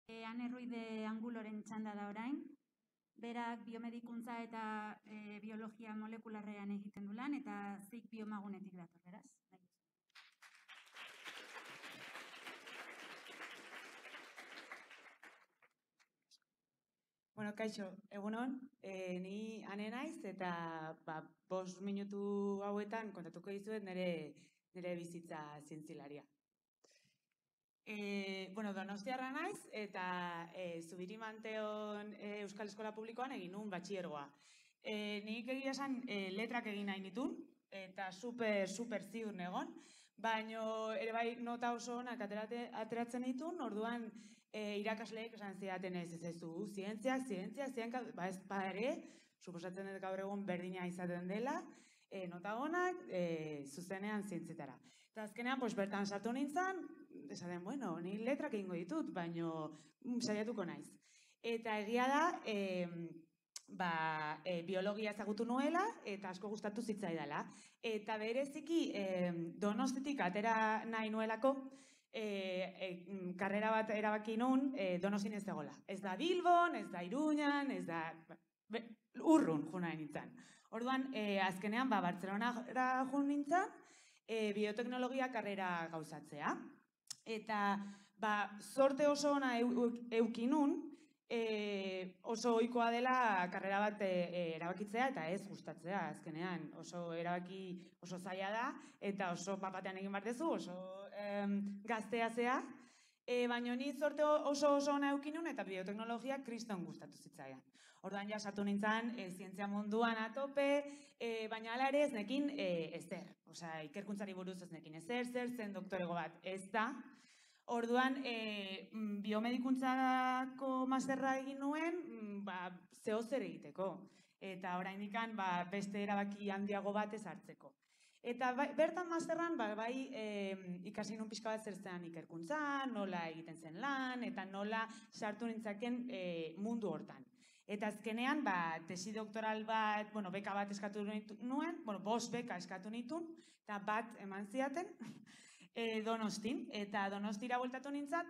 Ane Ruiz de Anguloren txanda da orain. Berak biomedikuntza eta biologia molekularrean egiten du lan, eta zik biomagunetik dator, beraz. Bueno, kaixo, egunon, ni Ane naiz eta 5 minutu hauetan kontatuko dizuet nire bizitza zientzilaria. Donostiarra naiz eta Zubiri-Manteon Euskal Eskola Publikoan egin nuen batxilergoa. Nik egia esan letrak egin nahi nituen eta super ziur negon, baina ere bai nota oso onak ateratzen dituen, orduan irakasleek esan zidaten ez du, zientziak, ez ere, suposatzen dut gaur egun berdina izaten dela, nota onak, zuzenean zientzietara. Eta azkenean, bertan sartu nintzen, esaten, ni letrak egingo ditut, baina saiatuko naiz. Eta egia da, biologia ezagutu nuela eta asko gustatu zitzaidala. Eta bereziki Donostitik atera nahi nuelako, karrera bat erabaki nun Donostin ez dagoela. Ez da Bilbon, ez da Iruñan, ez da urrun jo nahi nintzen. Orduan, azkenean, Bartzelonara jo nintzen, bioteknologia karrera gauzatzea. Eta, sorte oso ona euki nun, oso ohikoa dela karrera bat erabakitzea eta ez gustatzea, azkenean oso erabaki oso zaila da eta oso papatean egin behar dezu, oso gaztea zea, baina ni sorte oso ona euki nun eta bioteknologia kriston gustatu zitzaidan. Orduan ja sartu nintzen zientzia munduan atope, baina hala ere ez nekin ezer. Osea, ikerkuntzari buruz ez nekin ezer, zen doktorego bat ez da. Orduan, biomedikuntzako masterra egin nuen, zehozer egiteko. Eta oraindikan beste erabaki handiago bat ez hartzeko. Eta bertan masterran, ikasi nun pixka bat zer zen ikerkuntzan, nola egiten zen lan, eta nola sartu nintzaken mundu hortan. Eta azkenean, tesi doktoral bat, beka bat eskatu nuen, 5 beka eskatu nituen, eta bat eman ziaten, Donostin, eta Donostira bueltatu nintzat,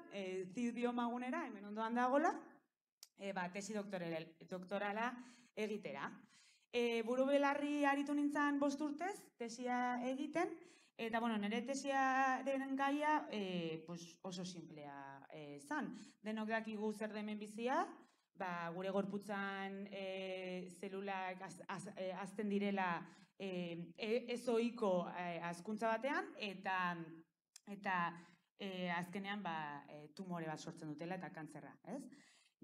zid biomagunera, hemen ondoan dagoela, tesi doktorala egitera. Buru belarri aritu nintzen 5 urtez, tesia egiten, eta nire tesiaren gaia oso simplea zan. Denok dakigu zer da hemen bizia, gure gorputzan zelulak hazten direla ez ohiko hazkuntza batean, eta azkenean tumore bat sortzen dutela eta kantzerra, ez?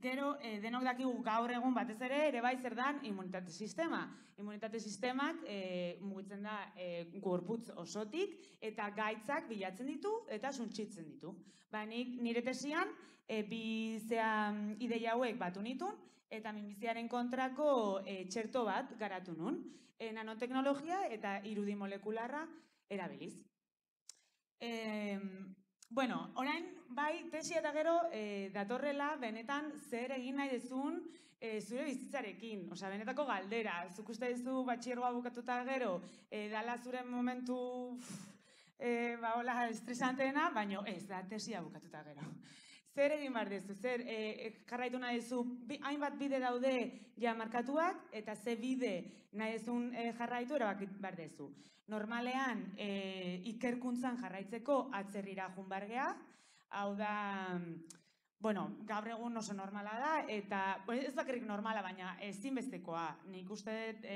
Gero, denok dakigu gaur egun batez ere bai zer dan immunitate sistema. Immunitate sistemak mugitzen da gorputz osotik eta gaitzak bilatzen ditu eta suntsitzen ditu. Nire tesian, bi ideia hauek batu nituen eta minbiziaren kontrako txerto bat garatu nun. Nanoteknologia eta irudi molekularra erabiliz. Orain, tesia eta gero datorrela benetan zer egin nahi dezun zure bizitzarekin. Osea, benetako galdera. Zuk uste duzu batxilergoa bukatuta gero, dala zure momentu estresanteena, baina ez da tesia bukatuta gero. Zer egin behar dezu, zer jarraitu nahi dezu, hainbat bide daude ja markatuak, eta ze bide nahi dezun jarraitu erabaki behar dezu. Normalean, ikerkuntzan jarraitzeko atzerrira joan behar gea, hau da, gaur egun oso normala da, eta ez bakarrik normala, baina ezinbestekoa. Nik uste dut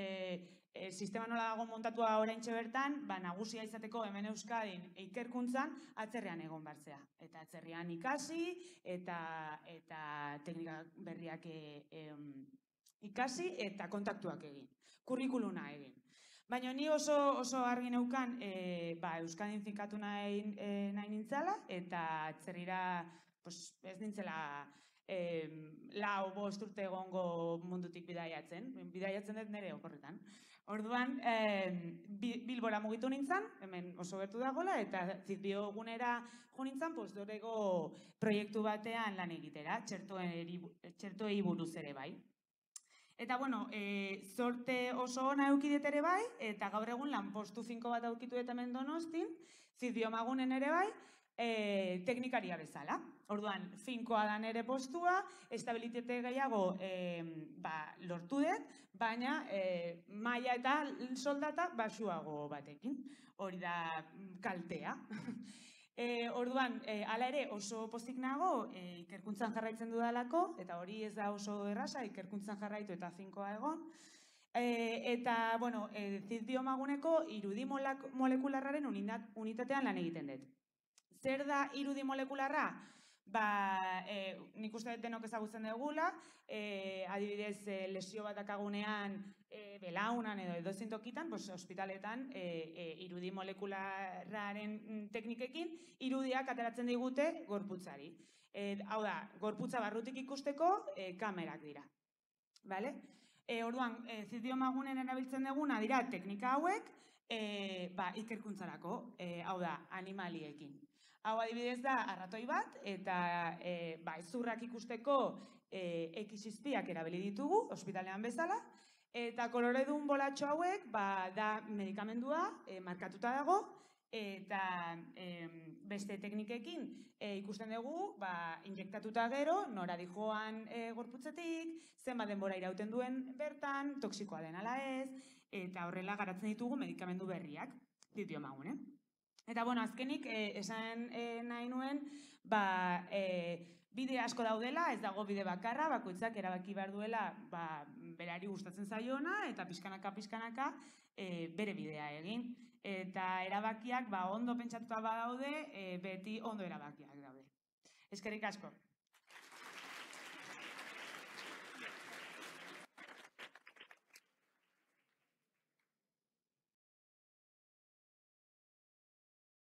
sistema nola dago montatua oraintxe bertan, nagusia izateko hemen Euskadin ikerkuntzan atzerrian egon bartzea. Eta atzerrian ikasi, eta teknika berriak ikasi, eta kontaktuak egin. Kurrikuluna egin. Baina ni oso argi neukan Euskadin finkatu nahi nintzala, eta atzerrira ez nintzela 4-5 urte egongo mundutik bidaiatzen. Bidaiatzen dut nire oporretan. Orduan, Bilbora mugitu nintzen, hemen oso gertu dagoela, eta zidbiogunera jo nintzen, postdoreko proiektu batean lan egitera, txertoei buruz ere bai. Eta, sorte oso ona eukidet ere bai, eta gaur egun lanpostu finko bat aukitu eta hemen Donostin, zidbiomagunen ere bai, teknikaria bezala. Orduan, finkoa da nere postua, estabilitate gehiago lortu dut, baina maila eta soldata baxuago batekin. Hori da kaltea. Orduan, hala ere oso pozik nago ikerkuntzan jarraitzen dudalako, eta hori ez da oso erraza, ikerkuntzan jarraitu eta finkoa egon. Eta, bueno, zit-biomaguneko irudi molekularraren unitatean lan egiten dut. Zer da irudi molekularra? Nik uste dut denok ezagutzen dugula, adibidez, lesio bat dakagunean belaunan edo edozein tokitan, ospitaletan irudi molekularraren teknikekin irudiak ateratzen digute gorputzari. Hau da, gorputza barrutik ikusteko kamerak dira. Orduan, zit-biomagunen erabiltzen duguna dira teknika hauek ikerkuntzarako, hau da, animaliekin. Hau adibidez da arratoi bat, eta hezurrak ikusteko X-izpiak erabili ditugu, ospitalean bezala, eta koloredun bolatxo hauek da medikamendua markatuta dago, eta beste teknikekin ikusten dugu injektatuta gero, nora dijoan gorputzetik, zenbat denbora irauten duen bertan, toksikoa den ala ez, eta horrela garatzen ditugu medikamendu berriak, zit-biomagun, Eta, bueno, azkenik, esan nahi nuen, bide asko daudela, ez dago bide bakarra, bakoitzak erabaki behar duela berari gustatzen zaiona, eta pixkanaka bere bidea egin. Eta erabakiak ondo pentsatuta badaude, beti ondo erabakiak daude. Eskerrik asko.